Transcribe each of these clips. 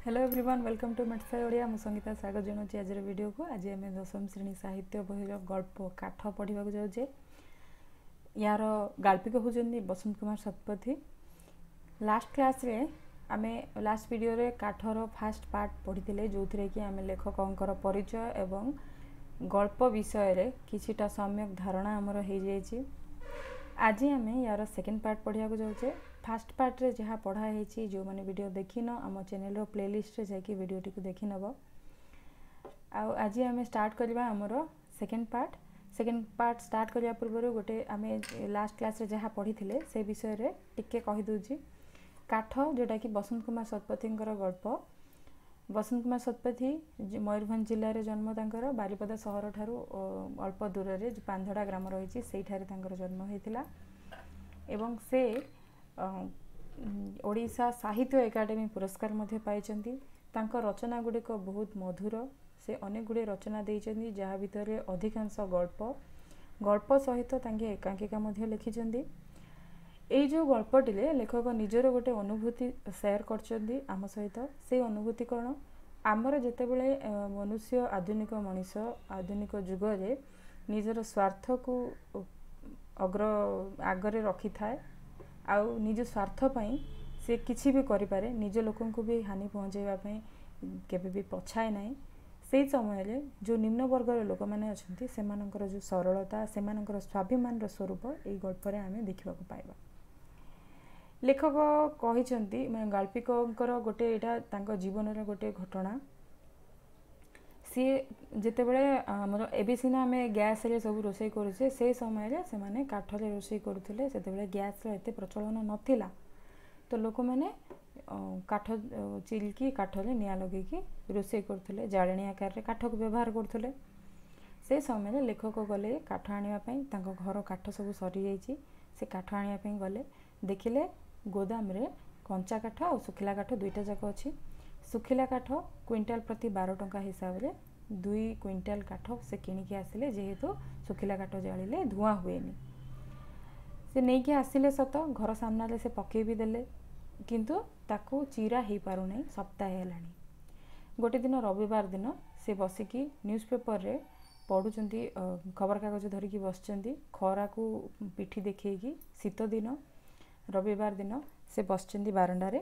Hello everyone, welcome to ମେଟ୍ସାଇ Odia. ମୁଁ ସଙ୍ଗୀତା ସ୍ୱାଗତ ଜଣାଉଛି ଆଜିର ଭିଡ଼ିଓକୁ। ଆଜି ଆମେ ଦଶମ ଶ୍ରେଣୀ ସାହିତ୍ୟ ବହିର ଗଳ୍ପ କାଠ ପଢ଼ିବାକୁ ଯାଉଛେ। ୟାର ଗାଳ୍ପିକ ହେଉଛନ୍ତି ବସନ୍ତ କୁମାର ଶତପଥୀ। ଲାଷ୍ଟ କ୍ଲାସ୍ରେ ଆମେ ଲାଷ୍ଟ ଭିଡ଼ିଓରେ କାଠର ଫାଷ୍ଟ ପାର୍ଟ ପଢ଼ିଥିଲେ, ଯେଉଁଥିରେ କି ଆମେ ଲେଖକଙ୍କର ପରିଚୟ ଏବଂ ଗଳ୍ପ ବିଷୟରେ କିଛିଟା ସମ୍ୟକ ଧାରଣା ଆମର ହେଇଯାଇଛି। ଆଜି ଆମେ ୟାର ସେକେଣ୍ଡ ପାର୍ଟ ପଢ଼ିବାକୁ ଯାଉଛେ। ଫାଷ୍ଟ ପାର୍ଟରେ ଯାହା ପଢ଼ା ହେଇଛି, ଯେଉଁମାନେ ଭିଡ଼ିଓ ଦେଖିନ, ଆମ ଚ୍ୟାନେଲର ପ୍ଲେଲିଷ୍ଟରେ ଯାଇକି ଭିଡ଼ିଓଟିକୁ ଦେଖିନେବ। ଆଉ ଆଜି ଆମେ ଷ୍ଟାର୍ଟ କରିବା ଆମର second part. Second part start କରିବା ପୂର୍ବରୁ ଗୋଟେ ଆମେ ଲାଷ୍ଟ କ୍ଲାସ୍ରେ ଯାହା ପଢ଼ିଥିଲେ ସେ ବିଷୟରେ ଟିକେ କହିଦେଉଛି। କାଠ, ଯେଉଁଟାକି ବସନ୍ତ କୁମାର ଶତପଥୀଙ୍କର ଗଳ୍ପ। ବସନ୍ତ କୁମାର ଶତପଥୀ ମୟୂରଭଞ୍ଜ ଜିଲ୍ଲାରେ ଜନ୍ମ ତାଙ୍କର। ବାରିପଦା ସହରଠାରୁ ଅଳ୍ପ ଦୂରରେ ଯେଉଁ ପାନ୍ଧଡ଼ା ଗ୍ରାମ ରହିଛି, ସେଇଠାରେ ତାଙ୍କର ଜନ୍ମ ହୋଇଥିଲା। ଏବଂ ସେ ଓଡ଼ିଶା ସାହିତ୍ୟ ଏକାଡେମୀ ପୁରସ୍କାର ମଧ୍ୟ ପାଇଛନ୍ତି। ତାଙ୍କ ରଚନା ଗୁଡ଼ିକ ବହୁତ ମଧୁର। ସେ ଅନେକ ଗୁଡ଼ିଏ ରଚନା ଦେଇଛନ୍ତି, ଯାହା ଭିତରେ ଅଧିକାଂଶ ଗଳ୍ପ। ଗଳ୍ପ ସହିତ ତାଙ୍କେ ଏକାଙ୍କିକା ମଧ୍ୟ ଲେଖିଛନ୍ତି। ଏଇ ଯେଉଁ ଗଳ୍ପଟିରେ ଲେଖକ ନିଜର ଗୋଟେ ଅନୁଭୂତି ସେୟାର କରିଛନ୍ତି ଆମ ସହିତ। ସେଇ ଅନୁଭୂତି କ'ଣ? ଆମର ଯେତେବେଳେ ମନୁଷ୍ୟ, ଆଧୁନିକ ମଣିଷ, ଆଧୁନିକ ଯୁଗରେ ନିଜର ସ୍ୱାର୍ଥକୁ ଅଗ୍ର ଆଗରେ ରଖିଥାଏ ଆଉ ନିଜ ସ୍ୱାର୍ଥ ପାଇଁ ସେ କିଛି ବି କରିପାରେ, ନିଜ ଲୋକଙ୍କୁ ବି ହାନି ପହଞ୍ଚାଇବା ପାଇଁ କେବେ ବି ପଛାଏ ନାହିଁ, ସେଇ ସମୟରେ ଯେଉଁ ନିମ୍ନ ବର୍ଗର ଲୋକମାନେ ଅଛନ୍ତି, ସେମାନଙ୍କର ଯେଉଁ ସରଳତା, ସେମାନଙ୍କର ସ୍ୱାଭିମାନର ସ୍ୱରୂପ ଏଇ ଗଳ୍ପରେ ଆମେ ଦେଖିବାକୁ ପାଇବା। ଲେଖକ କହିଛନ୍ତି, ମାନେ ଗାଳ୍ପିକଙ୍କର ଗୋଟେ ଏଇଟା ତାଙ୍କ ଜୀବନର ଗୋଟେ ଘଟଣା। ସିଏ ଯେତେବେଳେ ଆମର, ଏବେ ସିନା ଆମେ ଗ୍ୟାସ୍ରେ ସବୁ ରୋଷେଇ କରୁଛେ, ସେ ସମୟରେ ସେମାନେ କାଠରେ ରୋଷେଇ କରୁଥିଲେ। ସେତେବେଳେ ଗ୍ୟାସ୍ର ଏତେ ପ୍ରଚଳନ ନଥିଲା, ତ ଲୋକମାନେ କାଠ ଚିରିକି କାଠରେ ନିଆଁ ଲଗେଇକି ରୋଷେଇ କରୁଥିଲେ, ଜାଳେଣୀ ଆକାରରେ କାଠକୁ ବ୍ୟବହାର କରୁଥିଲେ। ସେ ସମୟରେ ଲେଖକ ଗଲେ କାଠ ଆଣିବା ପାଇଁ। ତାଙ୍କ ଘର କାଠ ସବୁ ସରିଯାଇଛି। ସେ କାଠ ଆଣିବା ପାଇଁ ଗଲେ। ଦେଖିଲେ ଗୋଦାମରେ କଞ୍ଚା କାଠ ଆଉ ଶୁଖିଲା କାଠ ଦୁଇଟା ଯାକ ଅଛି। ଶୁଖିଲା କାଠ କୁଇଣ୍ଟାଲ ପ୍ରତି 12 ଟଙ୍କା ହିସାବରେ 2 କୁଇଣ୍ଟାଲ କାଠ ସେ କିଣିକି ଆସିଲେ, ଯେହେତୁ ଶୁଖିଲା କାଠ ଜାଳିଲେ ଧୂଆଁ ହୁଏନି। ସେ ନେଇକି ଆସିଲେ ସତ, ଘର ସାମ୍ନାରେ ସେ ପକେଇ ବି ଦେଲେ, କିନ୍ତୁ ତାକୁ ଚିରା ହେଇପାରୁନାହିଁ। ସପ୍ତାହେ ହେଲାଣି। ଗୋଟେ ଦିନ ରବିବାର ଦିନ ସେ ବସିକି ନ୍ୟୁଜ୍ ପେପରରେ ପଢ଼ୁଛନ୍ତି, ଖବରକାଗଜ ଧରିକି ବସିଛନ୍ତି ଖରାକୁ ପିଠି ଦେଖେଇକି। ଶୀତ ଦିନ, ରବିବାର ଦିନ ସେ ବସିଛନ୍ତି ବାରଣ୍ଡାରେ।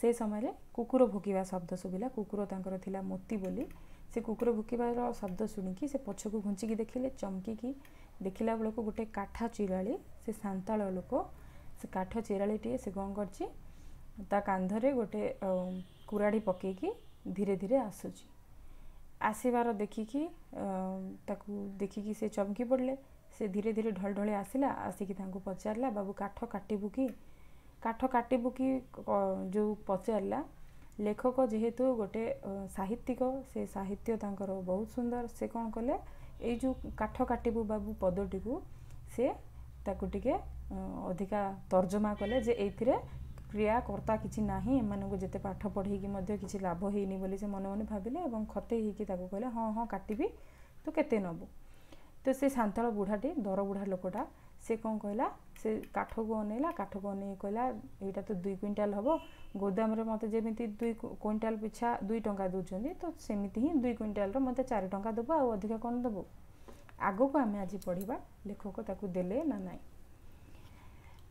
ସେ ସମୟରେ କୁକୁର ଭୁକିବା ଶବ୍ଦ ଶୁଭିଲା। କୁକୁର ତାଙ୍କର ଥିଲା ମୋତି ବୋଲି। ସେ କୁକୁର ଭୁକିବାର ଶବ୍ଦ ଶୁଣିକି ସେ ପଛକୁ ଘୁଞ୍ଚିକି ଦେଖିଲେ। ଚମକିକି ଦେଖିଲା ବେଳକୁ ଗୋଟେ କାଠ ଚିରାଳି, ସେ ସାନ୍ତାଳ ଲୋକ, ସେ କାଠ ଚିରାଳିଟିଏ ସେ କ'ଣ କରିଛି, ତା କାନ୍ଧରେ ଗୋଟେ କୁରାଢ଼ୀ ପକେଇକି ଧୀରେ ଧୀରେ ଆସୁଛି। ଆସିବାର ଦେଖିକି, ତାକୁ ଦେଖିକି ସେ ଚମକି ପଡ଼ିଲେ। ସେ ଧୀରେ ଧୀରେ ଢଳ ଢଳି ଆସିଲା। ଆସିକି ତାଙ୍କୁ ପଚାରିଲା, ବାବୁ, କାଠ କାଟିବୁ କି? କାଠ କାଟିବୁ କି ଯେଉଁ ପଚାରିଲା, ଲେଖକ ଯେହେତୁ ଗୋଟେ ସାହିତ୍ୟିକ, ସେ ସାହିତ୍ୟ ତାଙ୍କର ବହୁତ ସୁନ୍ଦର। ସେ କ'ଣ କଲେ, ଏଇ ଯେଉଁ କାଠ କାଟିବୁ ବାବୁ ପଦଟିକୁ ସେ ତାକୁ ଟିକେ ଅଧିକା ତର୍ଜମା କଲେ ଯେ ଏଇଥିରେ କ୍ରିୟାକର୍ତ୍ତା କିଛି ନାହିଁ, ଏମାନଙ୍କୁ ଯେତେ ପାଠ ପଢ଼େଇକି ମଧ୍ୟ କିଛି ଲାଭ ହେଇନି ବୋଲି ସେ ମନେ ମନେ ଭାବିଲେ ଏବଂ ଖତେଇ ହେଇକି ତାକୁ କହିଲେ, ହଁ ହଁ, କାଟିବି, ତୁ କେତେ ନେବୁ? ତ ସେ ସାନ୍ତାଳ ବୁଢ଼ାଟି, ଦର ବୁଢ଼ା ଲୋକଟା, ସେ କ'ଣ କହିଲା? ସେ କାଠକୁ ଅନେଇଲା। କାଠକୁ ଅନେଇକି କହିଲା, ଏଇଟା ତ 2 କୁଇଣ୍ଟାଲ ହେବ। ଗୋଦାମରେ ମୋତେ ଯେମିତି 2 କୁଇଣ୍ଟାଲ ପିଛା 2 ଟଙ୍କା ଦେଉଛନ୍ତି, ତ ସେମିତି ହିଁ 2 କୁଇଣ୍ଟାଲର ମୋତେ 4 ଟଙ୍କା ଦେବୁ, ଆଉ ଅଧିକା କ'ଣ ଦେବୁ? ଆଗକୁ ଆମେ ଆଜି ପଢ଼ିବା ଲେଖକ ତାକୁ ଦେଲେ ନା ନାହିଁ।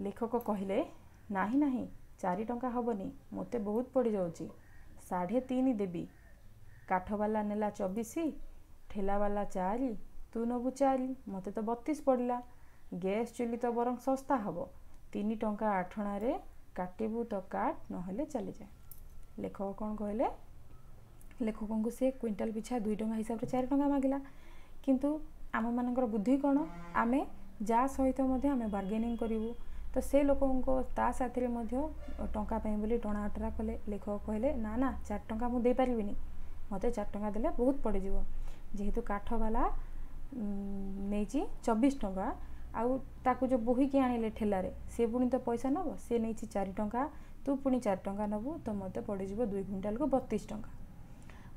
ଲେଖକ କହିଲେ, ନାହିଁ ନାହିଁ, 4 ଟଙ୍କା ହେବନି, ମୋତେ ବହୁତ ପଡ଼ିଯାଉଛି, 3.5 ଦେବି। କାଠବାଲା ନେଲା 24, ଠେଲାବାଲା 4, ତୁ ନେବୁ 4, ମୋତେ ତ 32 ପଡ଼ିଲା। ଗ୍ୟାସ୍ ଚୁଲି ତ ବରଂ ଶସ୍ତା ହେବ। 3 ଟଙ୍କା ଆଠଣାରେ କାଟିବୁ ତ କାଟ, ନହେଲେ ଚାଲିଯାଏ। ଲେଖକ କ'ଣ କହିଲେ? ଲେଖକଙ୍କୁ ସେ କୁଇଣ୍ଟାଲ ପିଛା 2 ଟଙ୍କା ହିସାବରେ 4 ଟଙ୍କା ମାଗିଲା। କିନ୍ତୁ ଆମମାନଙ୍କର ବୁଦ୍ଧି କ'ଣ? ଆମେ ଯାହା ସହିତ ମଧ୍ୟ ଆମେ ବାର୍ଗେନିଂ କରିବୁ। ତ ସେ ଲୋକଙ୍କ ତା ସାଥିରେ ମଧ୍ୟ ଟଙ୍କା ପାଇଁ ବୋଲି ଟଣା ଅଟରା କଲେ। ଲେଖକ କହିଲେ, ନା ନା, 4 ଟଙ୍କା ମୁଁ ଦେଇପାରିବିନି, ମୋତେ 4 ଟଙ୍କା ଦେଲେ ବହୁତ ପଡ଼ିଯିବ। ଯେହେତୁ କାଠବାଲା ନେଇଛି 24 ଟଙ୍କା, ଆଉ ତାକୁ ଯେଉଁ ବୋହିକି ଆଣିଲେ ଠେଲାରେ, ସେ ପୁଣି ତ ପଇସା ନେବ। ସେ ନେଇଛି 4 ଟଙ୍କା, ତୁ ପୁଣି 4 ଟଙ୍କା ନେବୁ, ତ ମୋତେ ପଡ଼ିଯିବ 2 କୁଇଣ୍ଟାଲକୁ 32 ଟଙ୍କା।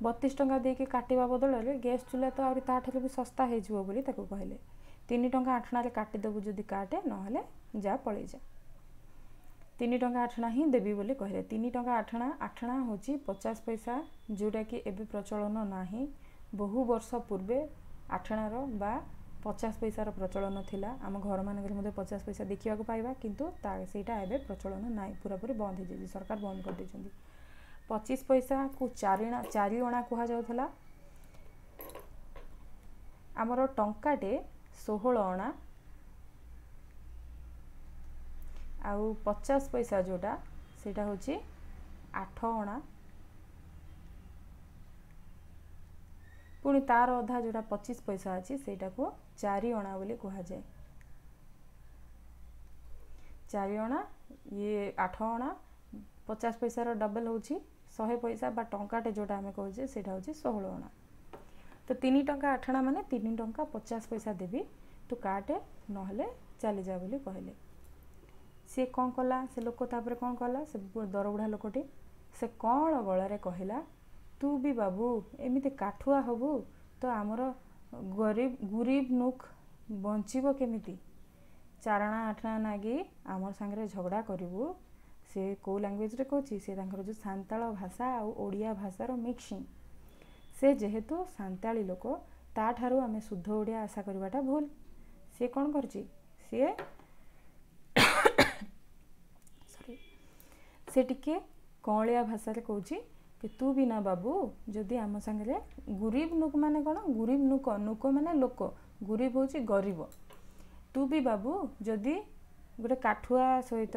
32 ଟଙ୍କା ଦେଇକି କାଟିବା ବଦଳରେ ଗ୍ୟାସ୍ ଚୁଲା ତ ଆହୁରି ତା'ଠାରୁ ବି ଶସ୍ତା ହେଇଯିବ ବୋଲି ତାକୁ କହିଲେ। 3 ଟଙ୍କା ଆଠଣାରେ କାଟିଦେବୁ ଯଦି କାଟେ, ନହେଲେ ଯା, ପଳେଇ ଯା। 3 ଟଙ୍କା ଆଠଣା ହିଁ ଦେବି ବୋଲି କହିଲେ। 3 ଟଙ୍କା ଆଠଣା, ଆଠଣା ହେଉଛି 50 ପଇସା, ଯେଉଁଟାକି ଏବେ ପ୍ରଚଳନ ନାହିଁ। ବହୁ ବର୍ଷ ପୂର୍ବେ ଆଠଣାର ବା 50 ପଇସାର ପ୍ରଚଳନ ଥିଲା। ଆମ ଘରମାନଙ୍କରେ ମଧ୍ୟ 50 ପଇସା ଦେଖିବାକୁ ପାଇବା, କିନ୍ତୁ ତା ସେଇଟା ଏବେ ପ୍ରଚଳନ ନାହିଁ, ପୁରାପୁରି ବନ୍ଦ ହେଇଯାଇଛି, ସରକାର ବନ୍ଦ କରିଦେଇଛନ୍ତି। 25 ପଇସାକୁ 4 ଅଣା କୁହାଯାଉଥିଲା। ଆମର ଟଙ୍କାଟେ 16 ଅଣା, ଆଉ 50 ପଇସା ଯେଉଁଟା ସେଇଟା ହେଉଛି 8 ଅଣା। ପୁଣି ତାର ଅଧା ଯେଉଁଟା 25 ପଇସା ଅଛି ସେଇଟାକୁ 4 ଅଣା ବୋଲି କୁହାଯାଏ। 4 ଅଣା, ଇଏ 8 ଅଣା, 50 ପଇସାର ଡବଲ୍ ହେଉଛି 100 ପଇସା ବା ଟଙ୍କାଟେ ଯେଉଁଟା ଆମେ କହୁଛେ ସେଇଟା ହେଉଛି 16 ଅଣା। ତ 3 ଟଙ୍କା ଆଠଣା ମାନେ 3 ଟଙ୍କା 50 ପଇସା ଦେବି, ତୁ କାଟେ ନହେଲେ ଚାଲିଯା ବୋଲି କହିଲେ। ସିଏ କ'ଣ କଲା, ସେ ଲୋକ ତାପରେ କ'ଣ କଲା, ସେ ଦରବୁଢ଼ା ଲୋକଟି ସେ କଅଁଳ ଗଳାରେ କହିଲା, ତୁ ବି ବାବୁ ଏମିତି କାଠୁଆ ହବୁ ତ ଆମର ଗରିବ ଗୁରିବ ନୁକ୍ ବଞ୍ଚିବ କେମିତି? ଚାରଣା ଆଠଣା ନାଗି ଆମର ସାଙ୍ଗରେ ଝଗଡ଼ା କରିବୁ। ସେ କେଉଁ ଲାଙ୍ଗୁଏଜରେ କହୁଛି? ସେ ତାଙ୍କର ଯେଉଁ ସାନ୍ତାଳ ଭାଷା ଆଉ ଓଡ଼ିଆ ଭାଷାର ମିକ୍ସିଂ। ସେ ଯେହେତୁ ସାନ୍ତାଳୀ ଲୋକ, ତାଠାରୁ ଆମେ ଶୁଦ୍ଧ ଓଡ଼ିଆ ଆଶା କରିବାଟା ଭୁଲ। ସିଏ କ'ଣ କରିଛି, ସିଏ ସରି ସେ ଟିକେ କଅଁଳିଆ ଭାଷାରେ କହୁଛି କି ତୁ ବି ନା ବାବୁ ଯଦି ଆମ ସାଙ୍ଗରେ ଗୁରିବ ନୁକ ମାନେ କ'ଣ, ଗୁରିବ ନୁକ, ନୁକ ମାନେ ଲୋକ, ଗୁରିବ ହେଉଛି ଗରିବ। ତୁ ବି ବାବୁ ଯଦି ଗୋଟେ କାଠୁଆ ସହିତ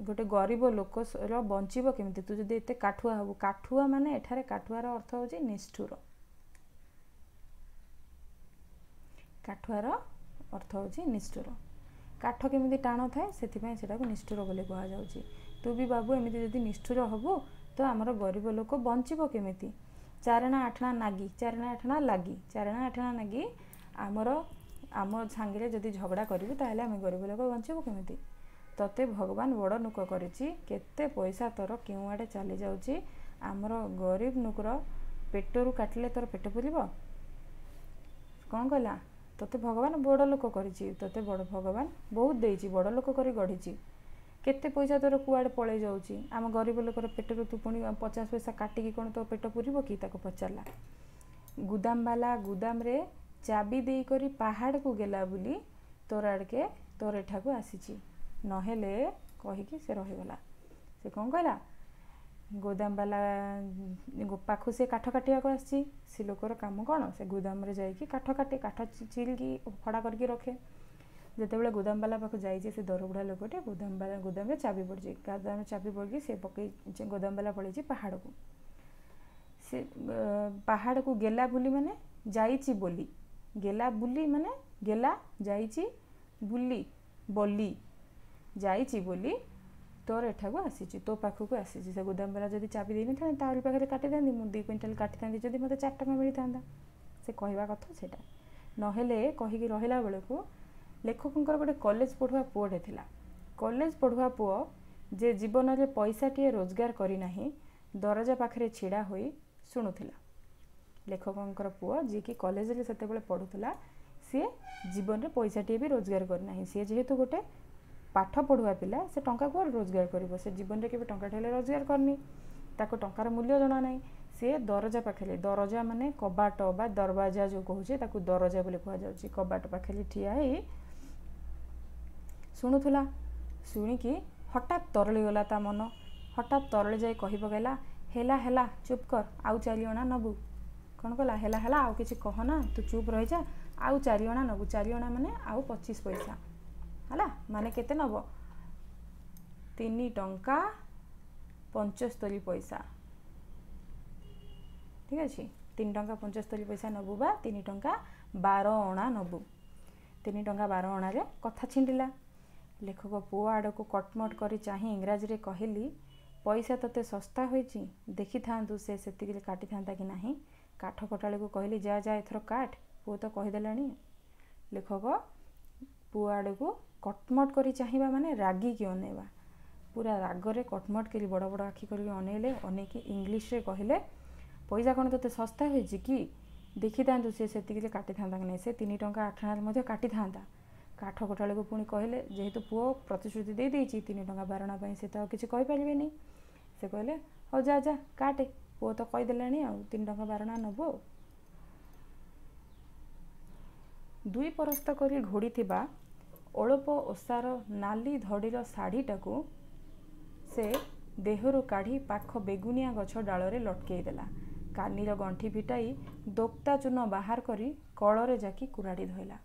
ଗୋଟେ ଗରିବ ଲୋକର ବଞ୍ଚିବ କେମିତି, ତୁ ଯଦି ଏତେ କାଠୁଆ ହବୁ। କାଠୁଆ ମାନେ ଏଠାରେ କାଠୁଆର ଅର୍ଥ ହେଉଛି ନିଷ୍ଠୁର। କାଠୁଆର ଅର୍ଥ ହେଉଛି ନିଷ୍ଠୁର। କାଠ କେମିତି ଟାଣ ଥାଏ ସେଥିପାଇଁ ସେଟାକୁ ନିଷ୍ଠୁର ବୋଲି କୁହାଯାଉଛି। ତୁ ବି ବାବୁ ଏମିତି ଯଦି ନିଷ୍ଠୁର ହବୁ ତ ଆମର ଗରିବ ଲୋକ ବଞ୍ଚିବ କେମିତି? ଚାରଣା ଆଠଣା ନାଗି, ଚାରଣା ଆଠଣା ଲାଗି, ଚାରଣା ଆଠଣା ନାଗି ଆମର ଆମ ସାଙ୍ଗରେ ଯଦି ଝଗଡ଼ା କରିବୁ ତାହେଲେ ଆମେ ଗରିବ ଲୋକ ବଞ୍ଚିବୁ କେମିତି? ତତେ ଭଗବାନ ବଡ଼ ନୁକ କରିଛି, କେତେ ପଇସା ତୋର କେଉଁଆଡ଼େ ଚାଲି ଯାଉଛି, ଆମର ଗରିବ ନୁକର ପେଟରୁ କାଟିଲେ ତୋର ପେଟ ପୁରିବ? କ'ଣ କହିଲା? ତୋତେ ଭଗବାନ ବଡ଼ ଲୋକ କରିଛି, ତୋତେ ବଡ଼ ଭଗବାନ ବହୁତ ଦେଇଛି, ବଡ଼ ଲୋକ କରି ଗଢ଼ିଛି, କେତେ ପଇସା ତୋର କୁଆଡ଼େ ପଳେଇ ଯାଉଛି, ଆମ ଗରିବ ଲୋକର ପେଟରୁ ତୁ ପୁଣି 50 ପଇସା କାଟିକି କ'ଣ ତୋ ପେଟ ପୁରିବ କି? ତାକୁ ପଚାରିଲା। ଗୁଦାମବାଲା ଗୁଦାମରେ ଚାବି ଦେଇକରି ପାହାଡ଼କୁ ଗଲା ବୋଲି ତୋର ଆଡ଼କେ ତୋର ଏଠାକୁ ଆସିଛି, ନହେଲେ କହିକି ସେ ରହିଗଲା। ସେ କ'ଣ କହିଲା? ଗୋଦାମବାଲା ପାଖକୁ ସେ କାଠ କାଟିବାକୁ ଆସିଛି। ସେ ଲୋକର କାମ କ'ଣ? ସେ ଗୋଦାମରେ ଯାଇକି କାଠ କାଟେ, କାଠ ଚିରିକି ଫଡ଼ା କରିକି ରଖେ। ଯେତେବେଳେ ଗୋଦାମବାଲା ପାଖକୁ ଯାଇଛି ସେ ଦରବୁଢ଼ା ଲୋକଟି, ଗୋଦାମବାଲା ଗୋଦାମରେ ଚାବି ପଡ଼ିଛି, ଗୋଦାମରେ ଚାବି ପଡ଼ିକି ସେ ପକେଇ ଗୋଦାମବାଲା ପଳେଇଛି ପାହାଡ଼କୁ। ସେ ପାହାଡ଼କୁ ଗେଲା ବୋଲି ମାନେ ଯାଇଛି ବୋଲି, ଗେଲା ବୁଲି ମାନେ ଗେଲା ଯାଇଛି, ବୁଲି ବଲି ଯାଇଛି ବୋଲି ତୋର ଏଠାକୁ ଆସିଛି, ତୋ ପାଖକୁ ଆସିଛି। ସେ ଗୋଦାମବାଲା ଯଦି ଚାବି ଦେଇନଥାନ୍ତେ ତାରି ପାଖରେ କାଟିଥାନ୍ତି, ମୁଁ 2 କୁଇଣ୍ଟାଲ କାଟିଥାନ୍ତି, ଯଦି ମୋତେ 4 ଟଙ୍କା ମିଳିଥାନ୍ତା। ସେ କହିବା କଥା ସେଇଟା, ନହେଲେ କହିକି ରହିଲା ବେଳକୁ ଲେଖକଙ୍କର ଗୋଟେ କଲେଜ ପଢ଼ୁଆ ପୁଅଟେ ଥିଲା। କଲେଜ ପଢ଼ୁଆ ପୁଅ ଯେ ଜୀବନରେ ପଇସାଟିଏ ରୋଜଗାର କରିନାହିଁ, ଦରଜା ପାଖରେ ଛିଡ଼ା ହୋଇ ଶୁଣୁଥିଲା। ଲେଖକଙ୍କର ପୁଅ ଯିଏକି କଲେଜରେ ସେତେବେଳେ ପଢ଼ୁଥିଲା, ସିଏ ଜୀବନରେ ପଇସାଟିଏ ବି ରୋଜଗାର କରିନାହିଁ। ସିଏ ଯେହେତୁ ଗୋଟେ ପାଠ ପଢ଼ୁଆ ପିଲା, ସେ ଟଙ୍କା କୁଆଡ଼େ ରୋଜଗାର କରିବ? ସେ ଜୀବନରେ କେବେ ଟଙ୍କାଟେ ହେଲେ ରୋଜଗାର କରିନି, ତାକୁ ଟଙ୍କାର ମୂଲ୍ୟ ଜଣା ନାହିଁ। ସିଏ ଦରଜା ପାଖରେ, ଦରଜା ମାନେ କବାଟ ବା ଦରବାଜା ଯେଉଁ କହୁଛେ ତାକୁ ଦରଜା ବୋଲି କୁହାଯାଉଛି, କବାଟ ପାଖରେ ଠିଆ ହେଇ ଶୁଣୁଥିଲା। ଶୁଣିକି ହଠାତ୍ ତରଳିଗଲା ତା ମନ, ହଠାତ୍ ତରଳି ଯାଇ କହି ପକାଇଲା, ହେଲା ହେଲା ଚୁପ୍ କର, ଆଉ 4 ଅଣା ନେବୁ। କ'ଣ କଲା? ହେଲା ହେଲା ଆଉ କିଛି କହନା, ତୁ ଚୁପ୍ ରହିଯା, ଆଉ 4 ଅଣା ନେବୁ। 4 ଅଣା ମାନେ ଆଉ 25 ପଇସା, ହେଲା ମାନେ କେତେ ନେବ? 3 ଟଙ୍କା 75 ପଇସା। ଠିକ୍ ଅଛି, 3 ଟଙ୍କା 75 ପଇସା ନେବୁ ବା 3 ଟଙ୍କା 12 ଅଣା ନେବୁ। 3 ଟଙ୍କା 12 ଅଣାରେ କଥା ଛିଣ୍ଡିଲା। ଲେଖକ ପୁଅ ଆଡ଼କୁ କଟମଟ କରି ଚାହିଁ ଇଂରାଜୀରେ କହିଲି, ପଇସା ତୋତେ ଶସ୍ତା ହୋଇଛି, ଦେଖିଥାନ୍ତୁ ସେ ସେତିକିରେ କାଟିଥାନ୍ତା କି ନାହିଁ। କାଠ କଟାଳିକୁ କହିଲି, ଯା ଯା ଏଥର କାଟ, ପୁଅ ତ କହିଦେଲାଣି। ଲେଖକ ପୁଅ ଆଡ଼କୁ କଟମଟ କରି ଚାହିଁବା ମାନେ ରାଗିକି ଅନେଇବା, ପୁରା ରାଗରେ କଟମଟ କରି ବଡ଼ ବଡ଼ ଆଖି କରିକି ଅନେଇଲେ। ଅନେଇକି ଇଂଲିଶରେ କହିଲେ, ପଇସା କ'ଣ ତୋତେ ଶସ୍ତା ହୋଇଛି କି? ଦେଖିଥାନ୍ତୁ ସେ ସେତିକିରେ କାଟିଥାନ୍ତା କି ନାହିଁ, ସେ 3 ଟଙ୍କା 8 ଅଣାରେ ମଧ୍ୟ କାଟିଥାନ୍ତା। କାଠ କୋଟାଳିକୁ ପୁଣି କହିଲେ, ଯେହେତୁ ପୁଅ ପ୍ରତିଶ୍ରୁତି ଦେଇଦେଇଛି 3 ଟଙ୍କା ବାରଣା ପାଇଁ, ସେ ତ ଆଉ କିଛି କହିପାରିବେନି। ସେ କହିଲେ, ହଉ ଯା ଯା କାଟେ, ପୁଅ ତ କହିଦେଲାଣି ଆଉ 3 ଟଙ୍କା ବାରଣା ନେବୁ। ଆଉ ଦୁଇ ପରସ୍ତ କରି ଘୋଡ଼ିଥିବା ଅଳପ ଓସାର ନାଲି ଧଡ଼ିର ଶାଢ଼ୀଟାକୁ ସେ ଦେହରୁ କାଢ଼ି ପାଖ ବେଗୁନିଆ ଗଛ ଡାଳରେ ଲଟକେଇ ଦେଲା। କାନିର ଗଣ୍ଠି ଫିଟାଇ ଦୋକ୍ତା ଚୂନ ବାହାର କରି କଳରେ ଜାକି କୁରାଢ଼ି ଧୋଇଲା।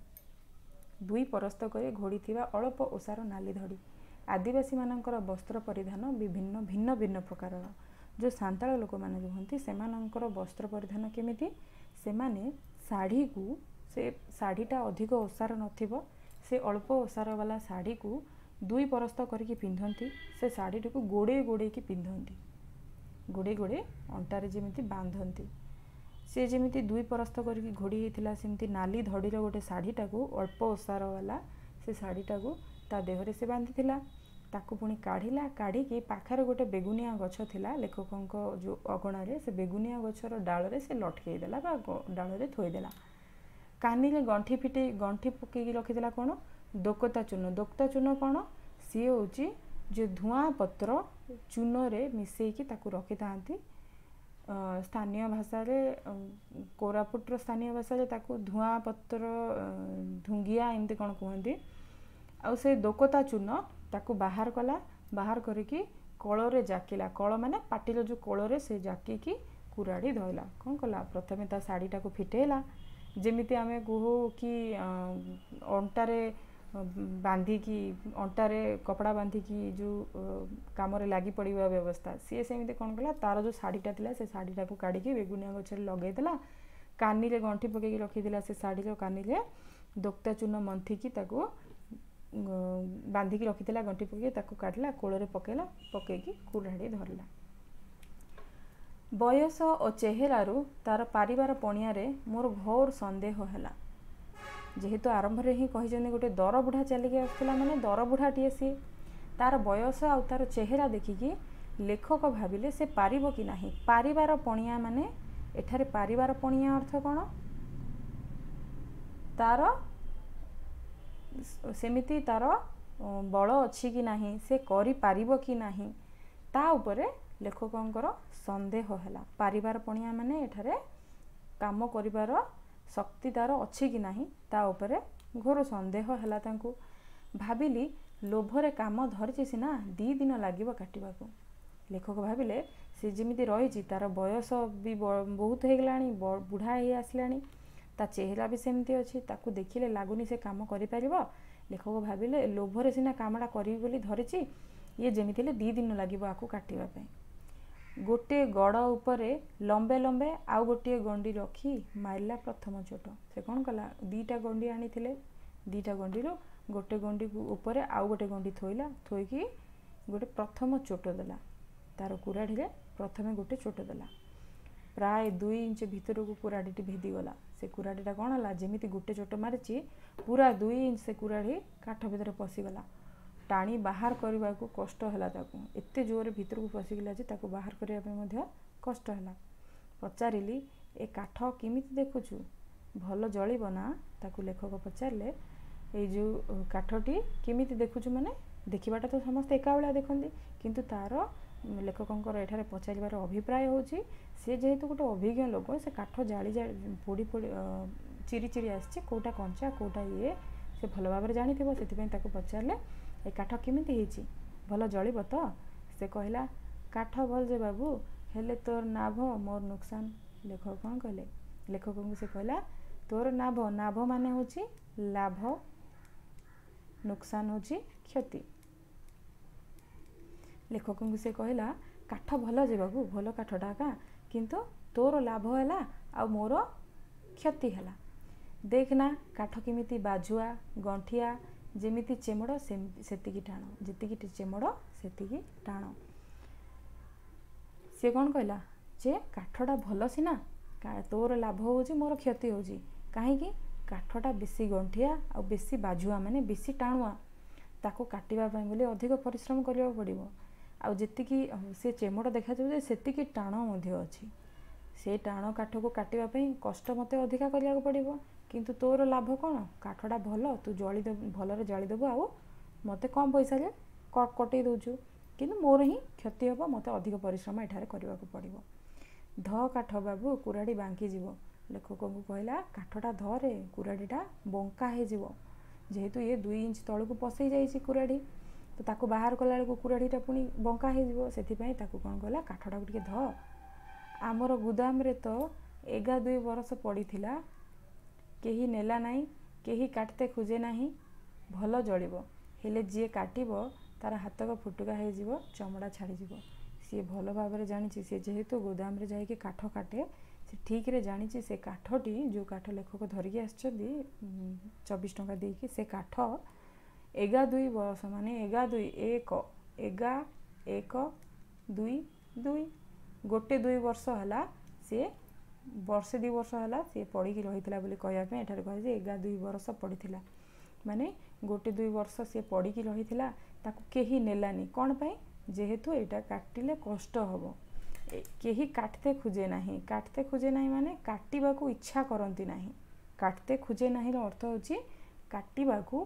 ଦୁଇ ପରସ୍ତ କରି ଘୋଡ଼ିଥିବା ଅଳପ ଓସାର ନାଲି ଧଡ଼ି। ଆଦିବାସୀମାନଙ୍କର ବସ୍ତ୍ର ପରିଧାନ ବିଭିନ୍ନ ଭିନ୍ନ ଭିନ୍ନ ପ୍ରକାରର। ଯେଉଁ ସାନ୍ତାଳ ଲୋକମାନେ ରୁହନ୍ତି, ସେମାନଙ୍କର ବସ୍ତ୍ର ପରିଧାନ କେମିତି? ସେମାନେ ଶାଢ଼ୀକୁ, ସେ ଶାଢ଼ୀଟା ଅଧିକ ଓସାର ନଥିବ, ସେ ଅଳ୍ପ ଓସାର ବାଲା ଶାଢ଼ୀକୁ ଦୁଇ ପରସ୍ତ କରିକି ପିନ୍ଧନ୍ତି। ସେ ଶାଢ଼ୀଟିକୁ ଗୋଡ଼େଇ ଗୋଡ଼େଇକି ପିନ୍ଧନ୍ତି, ଗୋଡ଼େଇ ଗୋଡ଼େଇ ଅଣ୍ଟାରେ ଯେମିତି ବାନ୍ଧନ୍ତି। ସେ ଯେମିତି ଦୁଇ ପରସ୍ତ କରିକି ଘୋଡ଼ି ହେଇଥିଲା, ସେମିତି ନାଲି ଧଡ଼ିର ଗୋଟେ ଶାଢ଼ୀଟାକୁ, ଅଳ୍ପ ଓସାର ବାଲା ସେ ଶାଢ଼ୀଟାକୁ ତା ଦେହରେ ସେ ବାନ୍ଧିଥିଲା। ତାକୁ ପୁଣି କାଢ଼ିଲା, କାଢ଼ିକି ପାଖରେ ଗୋଟେ ବେଗୁନିଆ ଗଛ ଥିଲା ଲେଖକଙ୍କ ଯେଉଁ ଅଗଣାରେ, ସେ ବେଗୁନିଆ ଗଛର ଡାଳରେ ସେ ଲଟକେଇ ଦେଲା ବା ଡାଳରେ ଥୋଇଦେଲା। କାନିରେ ଗଣ୍ଠି ଫିଟେଇ ଗଣ୍ଠି ପକେଇକି ରଖିଥିଲା କ'ଣ? ଦୋକତା ଚୂନ। ଦୋକତା ଚୂନ କ'ଣ? ସିଏ ହେଉଛି ଯେ ଧୂଆଁ ପତ୍ର ଚୂନରେ ମିଶେଇକି ତାକୁ ରଖିଥାନ୍ତି। ସ୍ଥାନୀୟ ଭାଷାରେ, କୋରାପୁଟର ସ୍ଥାନୀୟ ଭାଷାରେ ତାକୁ ଧୂଆଁ ପତ୍ର, ଧୁଙ୍ଗିଆ ଏମିତି କ'ଣ କୁହନ୍ତି। ଆଉ ସେ ଦୋକତା ଚୂନ ତାକୁ ବାହାର କଲା, ବାହାର କରିକି କଳରେ ଜାକିଲା। କଳ ମାନେ ପାଟିର ଯେଉଁ କଳରେ ସେ ଜାକିକି କୁରାଢ଼ି ଧୋଇଲା। କ'ଣ କଲା? ପ୍ରଥମେ ତା ଶାଢ଼ୀଟାକୁ ଫିଟେଇଲା, ଯେମିତି ଆମେ କହୁ କି ଅଣ୍ଟାରେ ବାନ୍ଧିକି, ଅଣ୍ଟାରେ କପଡ଼ା ବାନ୍ଧିକି ଯେଉଁ କାମରେ ଲାଗି ପଡ଼ିବା ବ୍ୟବସ୍ଥା, ସିଏ ସେମିତି କ'ଣ କଲା? ତାର ଯେଉଁ ଶାଢ଼ୀଟା ଥିଲା, ସେ ଶାଢ଼ୀଟାକୁ କାଢ଼ିକି ବେଗୁନିଆ ଗଛରେ ଲଗେଇଦେଲା। କାନିରେ ଗଣ୍ଠି ପକେଇକି ରଖିଥିଲା, ସେ ଶାଢ଼ୀର କାନିରେ ଦୋକ୍ତା ଚୂନ ମନ୍ଥିକି ତାକୁ ବାନ୍ଧିକି ରଖିଥିଲା ଗଣ୍ଠି ପକେଇକି, ତାକୁ କାଢ଼ିଲା, କୋଳରେ ପକେଇଲା, ପକେଇକି କୁରାଢ଼ି ଧରିଲା। ବୟସ ଓ ଚେହେରାରୁ ତାର ପାରିବାର ପଣିଆରେ ମୋର ଘୋର ସନ୍ଦେହ ହେଲା। ଯେହେତୁ ଆରମ୍ଭରେ ହିଁ କହିଛନ୍ତି ଗୋଟେ ଦରବୁଢ଼ା ଚାଲିକି ଆସୁଥିଲା, ମାନେ ଦରବୁଢ଼ାଟିଏ ସିଏ, ତାର ବୟସ ଆଉ ତାର ଚେହେରା ଦେଖିକି ଲେଖକ ଭାବିଲେ ସେ ପାରିବ କି ନାହିଁ। ପାରିବାର ପଣିଆ ମାନେ ଏଠାରେ ପାରିବାର ପଣିଆ ଅର୍ଥ କ'ଣ? ତାର ସେମିତି ତାର ବଳ ଅଛି କି ନାହିଁ, ସେ କରିପାରିବ କି ନାହିଁ, ତା ଉପରେ ଲେଖକଙ୍କର ସନ୍ଦେହ ହେଲା। ପାରିବାର ପଣିଆ ମାନେ ଏଠାରେ କାମ କରିବାର ଶକ୍ତି ତାର ଅଛି କି ନାହିଁ, ତା ଉପରେ ଘୋର ସନ୍ଦେହ ହେଲା ତାଙ୍କୁ। ଭାବିଲି, ଲୋଭରେ କାମ ଧରିଛି ସିନା, 2 ଦିନ ଲାଗିବ କାଟିବାକୁ। ଲେଖକ ଭାବିଲେ ସେ ଯେମିତି ରହିଛି, ତାର ବୟସ ବି ବହୁତ ହେଇଗଲାଣି, ବୁଢ଼ା ହେଇ ଆସିଲାଣି, ତା ଚେହେରା ବି ସେମିତି ଅଛି, ତାକୁ ଦେଖିଲେ ଲାଗୁନି ସେ କାମ କରିପାରିବ। ଲେଖକ ଭାବିଲେ ଲୋଭରେ ସିନା କାମଟା କରିବି ବୋଲି ଧରିଛି, ଇଏ ଯେମିତି ହେଲେ 2 ଦିନ ଲାଗିବ ଆକୁ କାଟିବା ପାଇଁ। ଗୋଟିଏ ଗଡ଼ ଉପରେ ଲମ୍ବେ ଲମ୍ବେ ଆଉ ଗୋଟିଏ ଗଣ୍ଡି ରଖି ମାରିଲା ପ୍ରଥମ ଚୋଟ। ସେ କ'ଣ କଲା? 2ଟା ଗଣ୍ଡି ଆଣିଥିଲେ, 2ଟା ଗଣ୍ଡିରୁ ଗୋଟେ ଗଣ୍ଡି ଉପରେ ଆଉ ଗୋଟେ ଗଣ୍ଡି ଥୋଇଲା, ଥୋଇକି ଗୋଟେ ପ୍ରଥମ ଚୋଟ ଦେଲା। ତାର କୁରାଢ଼ୀରେ ପ୍ରଥମେ ଗୋଟେ ଚୋଟ ଦେଲା। ପ୍ରାୟ 2 ଇଞ୍ଚ ଭିତରକୁ କୁରାଢ଼ୀଟି ଭେଦିଗଲା। ସେ କୁରାଢ଼ୀଟା କ'ଣ ହେଲା? ଯେମିତି ଗୋଟେ ଚୋଟ ମାରିଛି, ପୁରା 2 ଇଞ୍ଚ ସେ କୁରାଢ଼ୀ କାଠ ଭିତରେ ପଶିଗଲା। ଟାଣି ବାହାର କରିବାକୁ କଷ୍ଟ ହେଲା ତାକୁ। ଏତେ ଜୋରରେ ଭିତରକୁ ପଶିଗଲା ଯେ ତାକୁ ବାହାର କରିବା ପାଇଁ ମଧ୍ୟ କଷ୍ଟ ହେଲା। ପଚାରିଲି, ଏ କାଠ କେମିତି ଦେଖୁଛୁ, ଭଲ ଜଳିବ ନା? ତାକୁ ଲେଖକ ପଚାରିଲେ, ଏଇ ଯେଉଁ କାଠଟି କେମିତି ଦେଖୁଛୁ, ମାନେ ଦେଖିବାଟା ତ ସମସ୍ତେ ଏକା ଭଳିଆ ଦେଖନ୍ତି, କିନ୍ତୁ ତାର ଲେଖକଙ୍କର ଏଠାରେ ପଚାରିବାର ଅଭିପ୍ରାୟ ହେଉଛି ସେ ଯେହେତୁ ଗୋଟେ ଅଭିଜ୍ଞ ଲୋକ, ସେ କାଠ ଜାଳି ଜାଳି, ପୋଡ଼ି ପୋଡ଼ି, ଚିରି ଚିରି ଆସିଛି, କେଉଁଟା କଞ୍ଚା କେଉଁଟା ଇଏ ସେ ଭଲ ଭାବରେ ଜାଣିଥିବ। ସେଥିପାଇଁ ତାକୁ ପଚାରିଲେ, ଏ କାଠ କେମିତି ହେଇଛି, ଭଲ ଜଳିବ ତ? ସେ କହିଲା, କାଠ ଭଲ ଯେ ବାବୁ, ହେଲେ ତୋର ନାଭ ମୋର ନୁକସାନ। ଲେଖକ କ'ଣ କହିଲେ? ଲେଖକଙ୍କୁ ସେ କହିଲା, ତୋର ନାଭ, ନାଭ ମାନେ ହେଉଛି ଲାଭ, ନୁକସାନ ହେଉଛି କ୍ଷତି। ଲେଖକଙ୍କୁ ସେ କହିଲା, କାଠ ଭଲ ଯେ ବାବୁ, ଭଲ କାଠଟା ଏକା, କିନ୍ତୁ ତୋର ଲାଭ ହେଲା ଆଉ ମୋର କ୍ଷତି ହେଲା। ଦେଖ ନା କାଠ କେମିତି ବାଜୁଆ ଗଣ୍ଠିଆ, ଯେମିତି ଚେମଡ଼ ସେତିକି ଟାଣ, ଯେତିକି ଚେମଡ଼ ସେତିକି ଟାଣ। ସିଏ କ'ଣ କହିଲା ଯେ କାଠଟା ଭଲ ସିନା, ତୋର ଲାଭ ହେଉଛି ମୋର କ୍ଷତି ହେଉଛି। କାହିଁକି? କାଠଟା ବେଶୀ ଗଣ୍ଠିଆ ଆଉ ବେଶୀ ବାଜୁଆ, ମାନେ ବେଶୀ ଟାଣୁଆ, ତାକୁ କାଟିବା ପାଇଁ ବୋଲି ଅଧିକ ପରିଶ୍ରମ କରିବାକୁ ପଡ଼ିବ। ଆଉ ଯେତିକି ସେ ଚେମଡ଼ ଦେଖାଯାଉଛି ସେତିକି ଟାଣ ମଧ୍ୟ ଅଛି। ସେ ଟାଣ କାଠକୁ କାଟିବା ପାଇଁ କଷ୍ଟ ମୋତେ ଅଧିକା କରିବାକୁ ପଡ଼ିବ, କିନ୍ତୁ ତୋର ଲାଭ କ'ଣ? କାଠଟା ଭଲ, ତୁ ଜଳି ଭଲରେ ଜାଳିଦେବୁ ଆଉ ମୋତେ କମ୍ ପଇସାରେ କଟେଇ ଦେଉଛୁ, କିନ୍ତୁ ମୋର ହିଁ କ୍ଷତି ହେବ, ମୋତେ ଅଧିକ ପରିଶ୍ରମ ଏଠାରେ କରିବାକୁ ପଡ଼ିବ। ଧ କାଠ ବାବୁ, କୁରାଢ଼ୀ ବାଙ୍କିଯିବ। ଲେଖକଙ୍କୁ କହିଲା, କାଠଟା ଧରେ, କୁରାଢ଼ୀଟା ବଙ୍କା ହେଇଯିବ। ଯେହେତୁ ଇଏ 2 ଇଞ୍ଚ ତଳକୁ ପଶେଇ ଯାଇଛି କୁରାଢ଼ୀ, ତ ତାକୁ ବାହାର କଲାବେଳକୁ କୁରାଢ଼ୀଟା ପୁଣି ବଙ୍କା ହେଇଯିବ। ସେଥିପାଇଁ ତାକୁ କ'ଣ କହିଲା, କାଠଟାକୁ ଟିକେ ଧ। ଆମର ଗୁଦାମରେ ତ ଏଗା 2 ବରଷ ପଡ଼ିଥିଲା, କେହି ନେଲା ନାହିଁ, କେହି କାଟତେ ଖୋଜେ ନାହିଁ। ଭଲ ଜଳିବ, ହେଲେ ଯିଏ କାଟିବ ତାର ହାତକ ଫୁଟୁକା ହେଇଯିବ, ଚମଡ଼ା ଛାଡ଼ିଯିବ। ସିଏ ଭଲ ଭାବରେ ଜାଣିଛି, ସିଏ ଯେହେତୁ ଗୋଦାମରେ ଯାଇକି କାଠ କାଟେ, ସେ ଠିକ୍ରେ ଜାଣିଛି ସେ କାଠଟି, ଯେଉଁ କାଠ ଲେଖକ ଧରିକି ଆସିଛନ୍ତି 24 ଟଙ୍କା ଦେଇକି, ସେ କାଠ ଏଗା 2 ବରଷ, ମାନେ ଏଗା 2 ଏକ, ଏଗା 1 2 2, ଗୋଟେ 2 ବର୍ଷ ହେଲା, ସିଏ ବର୍ଷେ 2 ବର୍ଷ ହେଲା ସିଏ ପଡ଼ିକି ରହିଥିଲା ବୋଲି କହିବା ପାଇଁ ଏଠାରେ କୁହାଯାଇଛି ଏଗା 2 ବରଷ ପଡ଼ିଥିଲା। ମାନେ ଗୋଟେ 2 ବର୍ଷ ସିଏ ପଡ଼ିକି ରହିଥିଲା, ତାକୁ କେହି ନେଲାନି। କ'ଣ ପାଇଁ? ଯେହେତୁ ଏଇଟା କାଟିଲେ କଷ୍ଟ ହେବ। କେହି କାଟତେ ଖୋଜେ ନାହିଁ। କାଟତେ ଖୋଜେ ନାହିଁ ମାନେ କାଟିବାକୁ ଇଚ୍ଛା କରନ୍ତି ନାହିଁ। କାଟତେ ଖୋଜେ ନାହିଁର ଅର୍ଥ ହେଉଛି କାଟିବାକୁ